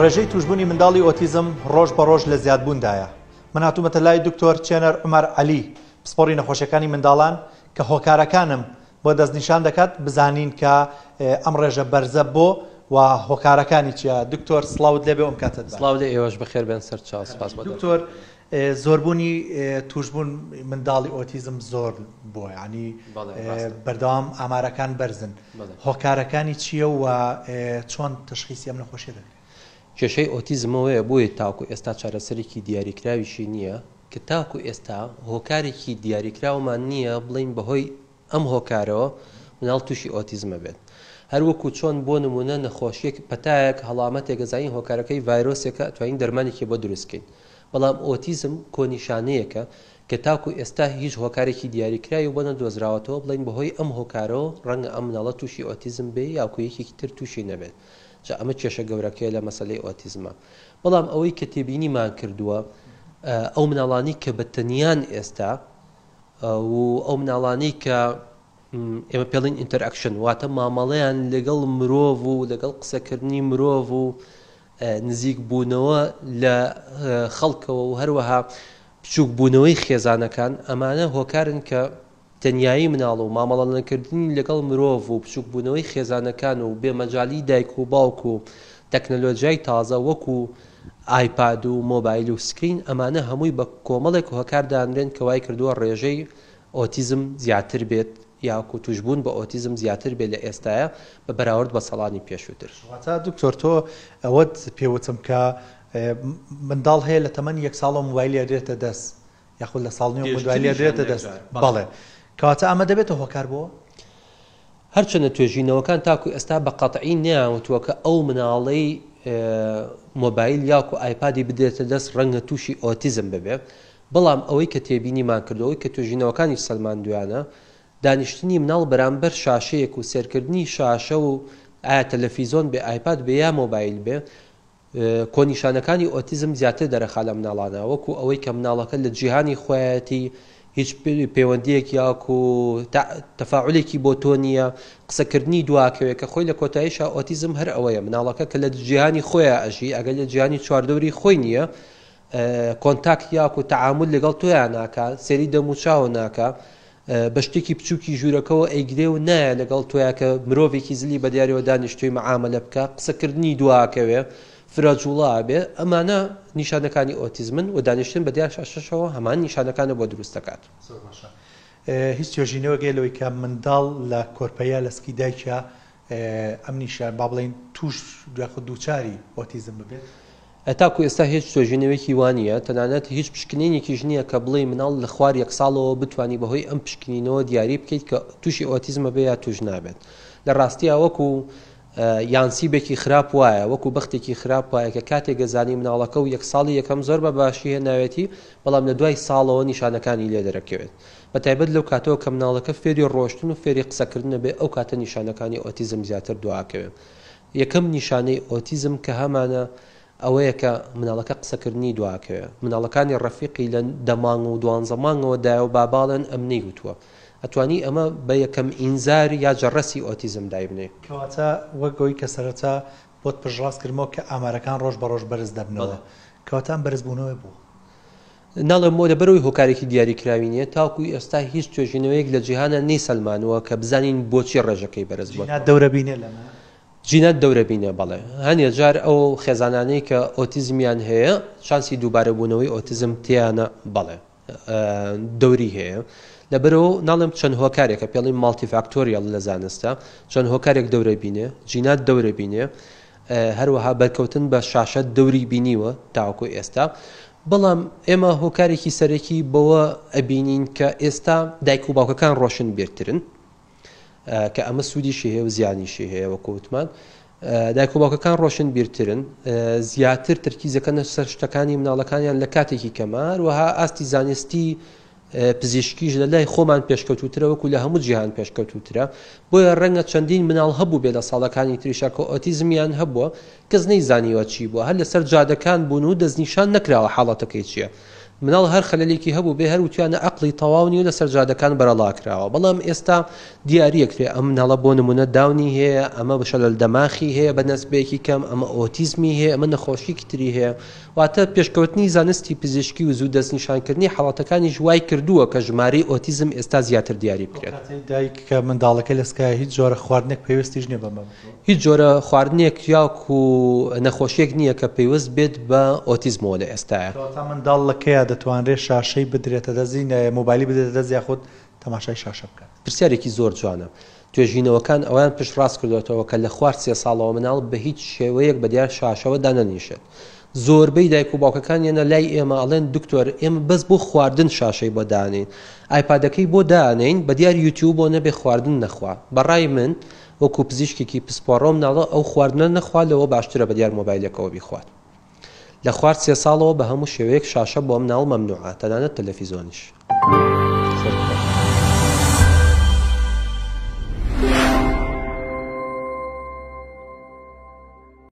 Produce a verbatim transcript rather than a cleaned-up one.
ڕێژەی توشبوونی منداڵی ئۆتیزم ڕۆژ بە ڕۆژ لە زیادبووندایە. من هاتوومەتە لای دکتۆر چێنەر عومەر عەلی، پسپۆڕی نەخۆشیەکانی منداڵان، کە هۆکارەکانم بۆ دەستنیشان دەکات بزانین کە ئەم ڕێژە بەرزە بۆ و هۆکارەکانی چییە. دکتۆر سڵاوت لێبێ، ئەم کاتت باش. سڵاو لێ ئێوەش، بەخێر بێن سەرچاو. سپاس بۆ دکتۆر. زۆربوونی توشبوون منداڵی ئۆتیزم زۆر بووە، ینی بەردەوام ئامارەکان بەرزن. هۆکارەکانی چییە و چۆن تەشخیسی ئەم نەخۆشیە دەکرێت؟ کێشەی ئۆتیزمەوەیە بۆیە تاکو ئێستا چارەسەرێکی دیاریکراویشی نییە، کە تاکو ئێستا هۆکارێکی دیاریکراومان نییە بڵین بەهۆی ئەم هۆکارەوە مناڵ تووشی ئۆتیزمە بێت. هەروەکو چۆن بۆ نمونە نەخۆشیەک، پەتایەک، هەڵامەتێک ئەزانین هۆکارەکەی ڤایرۆسێکە، ئەتوانین دەرمانێکی بۆ دروستکەین. بەڵام ئۆتیزم کۆنیشانەیەکە کە تاکو ئێستا هیچ هۆکارێکی دیاریکراوی بۆ نەدۆزراوەتەوە بڵین بەهۆی ئەم هۆکارەوە ڕەنگە ئەم مناڵە تووشی ئۆتیزم بێ یاکو یەکێکی تر تووشی نەبێت. جا ئەمە کێشە گەورەکەیە لە مەسلەی ئۆتیزمە. بەڵام ئەوەی کە تێبینیمان کردووە، ئەو مناڵانی کە بە تەنیان ئێستا و ئەو مناڵانی کە ئێمە پێڵین interaction، واتە مامەڵەیان لەگەڵ مرۆڤ و لەگەڵ قسەکردنی مرۆڤ و نزیک بوونەوە لە خەڵکەوە و هەروەها بچووک بوونەوەی خێزانەکان، ئەمانە هۆکارن کە تەنیایی مناڵ و مامەڵەنەکردنی لەگەڵ مرۆڤ و بچووک بوونەوەی خێزانەکان و بێمەجالی دایک و باوک و تەکنەلۆژیای تازە وەکو ئایپاد و مۆبایل و screen، ئەمانە هەمووی بە کۆمەڵێک هۆکار دانرێن کە وای کردووە ڕێژەی ئۆتیزم زیاتر بێت یاکو توشبوون بە ئۆتیزم زیاتر بێت لە ئێستاە بە بەراورد بە ساڵانی پێشووتر. واتە دکتۆر تۆ ئەوەت پێوتم کە منداڵ هەیە لە تەمەنی یەک ساڵەوە مۆبایلی ئەدرێتە دەست، یاخود لە ساڵ نیوە مۆبایلی ئەدرێتە دەست. بەڵێ، کەواتە ئەمە دەبێتە هۆکار بۆ؟ هەرچەندە توێژینەوەکان تاکو ئێستا بە قەتعی نەیانوتووە کە ئەو مناڵەی مۆبایل یاکو ئایپادی بدرێتە دەست ڕەنگە تووشی ئۆتیزم ببێ، بەڵام ئەوەی کە تێبینیمان کردەوەی کە توێژینەوەکانی سەلماندویانە، دانیشتنی مناڵ بەرامبەر شاشەیەک و سێرکردنی شاشە و ئایا تەلەفیزۆن بێ، ئایپاد بێ یا مۆبایل بێ، کۆنیشانەکانی ئۆتیزم زیاتر دەرەخا لە مناڵانە، وەکو ئەوەی کە مناڵەکە لە جیهانی خۆیەتی هیچ پەیوەندیەک یاکو تەفاعولێکی بۆ تۆ نییە، قسەکردنی دواکەوێت کە خۆی لە کۆتاییشا ئۆتیزم هەر ئەوەیە مناڵەکە کە لە جیهانی خۆیان ئەژی، ئەگەر لە جیهانی چواردەوری خۆی نییە، contact یاکو تەعامل لەگەڵ تۆیان ناکا، سێری دەموچاوە ناکا، بە شتێکی بچووکی ژوورەکەەوە ئەیگرێ و نایە لەگەڵ تۆیا کە مرۆڤێکی زلی بە دیارەوە دانیشتوی مەعامەلە بکە، قسەکردنی دواکەوێ، فرەجوڵا بێ، ئەمانە نیشانەکانی ئۆتیزمن و دانیشتن بە دیار شاشەشەوە هەمان نیشانەکانە بۆ دروست دەکات. زۆر باشە. هیچ توێژینەوەگەی لەوەی کە منداڵ لە کۆرپەیە لە سکی دایکیا ئەم نیشان با بڵێین توش یاخود دووچاری ئۆتیزم ببێت؟ تاکو ئێستا هیچ توێژینەوەیەکی وانە، تەنانەت هیچ پشکنینێکیش نییە کە بڵێ مناڵ لە خوار یەک ساڵەوە بتانی بەهۆی ئەم پشکنینەوە دیاری بکەیت کە تووشی ئۆتیزمە بێ یا توش نابێت. لە ڕاستیە وەکو یانسیبێکی خراپ وایە، وەکو بەختێکی خراپ وایە کە کاتێک گەزانی مناڵەکە و یەک ساڵی یەکەم زۆر بە باشی هێناوێتی، بەڵام لە دوای ساڵەوە نیشانەکانی لێ دەرەکەوێت. بە تایبەت لەو کاتەوە کە مناڵەکە فێری ڕۆشتن و فێری قسەکردنە بێ، ئەو کاتە نیشانەکانی ئۆتیزم زیاتر دواکەوێت. یەکەم نیشانەی ئۆتیزم کە هەمانە ئەوەیە کە مناڵەکە قسەکردنی دواکەوێت. مناڵەکانی ڕەفیقی لە دەمانگ و دوانزە مانگەوە دایە و باباڵێن ئەم نەیوتووە. ئەتوانی ئەمە بە یەکەم ئینزار یا جەڕەسی ئۆتیزم دایبنێ. کەواتە وەک ئەوەی کە سەرەتا بۆت پشتڕاست کردمەوە کە ئامارەکان ڕۆژ بە ڕۆژ بەرز دەبنەوە، کەواتە ئەم بەرزبوونەوەی بوو؟ ناڵێم بۆ لەبەرەوەی هۆکارێکی دیاریکراوی نییە، تاکو ئێستا هیچ توێژینەوەیەک لە جیهانە نەیسەلمانووە کە بزانین بۆچی ڕێژەکەی بەرز بووە. جینات دەورە بینێ لەمە؟ جینات دەورە بینێ، بەڵێ. هەنێ جار ئەو خێزانانەی کە ئۆتیزمیان هەیە چانسی دووبارەبوونەوەی ئۆتیزم تیانە، بەڵێ دەوری هەیە. لەبەرەوە ناڵێم چەند هۆکارێکە، پێڵین multifactorial لە زانستە، چەند هۆکارێک دەورە بینێ، جینات دەورە بینێ، هەروەها بەرکەوتن بە شاشە دەوری بینیوە تاوەکو ئێستا. بەڵام ئێمە هۆکارێکی سەرەکی بەوە ئەبینین کە ئێستا دایک و باوکەکان ڕۆشن بیرترن، کە ئەمە سوودیشی هەیە و زیانیشی هەیە وەکو وتمان. دایک و باوکەکان ڕۆشن بیرترن، زیاتر تەرکیزەکەنە سەر شتەکانی مناڵەکانیان لە کاتێکی کەمە، هەروەها ئاستی زانستی پزیشکیش لە لای خۆمان پێشکەوتوترە وەکو لە هەموو جیهان پێشکەوتوترە. بۆیە ڕەنگە چەندین مناڵ هەبوو بێ لە ساڵەکانی تریشا کە ئۆتیزمیان هەبووە، کەس نەیزانیوە چی بووە، هەر لەسەر جادەکان بوون و دەستنیشان نەکراوە حاڵەتەکەی چییە. مناڵ هەر خەلەلێکی هەبوو بێ هەر وتیانە عەقڵی تەواو نیە و لەسەر جادەکان بەرەڵا کراوە، بەڵام ئێستا دیاریەکرێ ئەم مناڵە بۆ نمونە داونی هەیە، ئەمە شەلەل دەماخی هەیە بە نەسبەیەکی کەم، ئەمە ئۆتیزمی هەیە، ئەمە نەخۆشیکی تری هەیە. واتە پێشکەوتنی زانستی پزیشکی و زوو دەستنیشانکردنی حاڵەتەکانیش وای کردووە کە ژمارەی ئۆتیزم ئێستا زیاتر دیاری بکرێت. ئەو کاتەی دایک کە منداڵەکەی لە سکایە هیچ جۆرە خواردنێک پەیوەستیش نییە بەمە؟ هیچ جۆرە خواردنێک یاکو نەخۆشیەک نییە کە پەیوەست بێت بە ئۆتیزمەوە لە ئێستایا. کەواتە منداڵ لە کەیا دەتوانرێت شاشەی بدرێتە دەستی، مۆبایلی بدرێتە دەست یاخود تەماشای شاشە بکات؟ پرسیارێکی زۆر جوانە. توێژینەوەکان ئەوەیان پشتڕاست کردوێتەوە کە لە خوار سێ ساڵەوە مناڵ بە هیچ شێوەیەک بە دیار شاشەوە دانەنیشێت. زۆربەی دایک و باوکەکان یەنە لای ئێمە ئەڵێن دکتۆر ئێمە بەس بۆ خواردن شاشەی بۆ دانین، ئایپادەکەی بۆ دانین بە دیار یوتیوب بۆ نەبێ خواردن نەخوا. بەڕای من وەکو پزیشکێکی پسپۆڕۆ مناڵە ئەو خواردنە نەخوا لەوە باشترە بە دیار مۆبایلەکەوە بیخوات. لە خوار سێ ساڵەوە بە هەموو شێوەیەک شاشە بۆ مناڵ مەمنوعە، تەنانەت تەلەفیزۆنیش.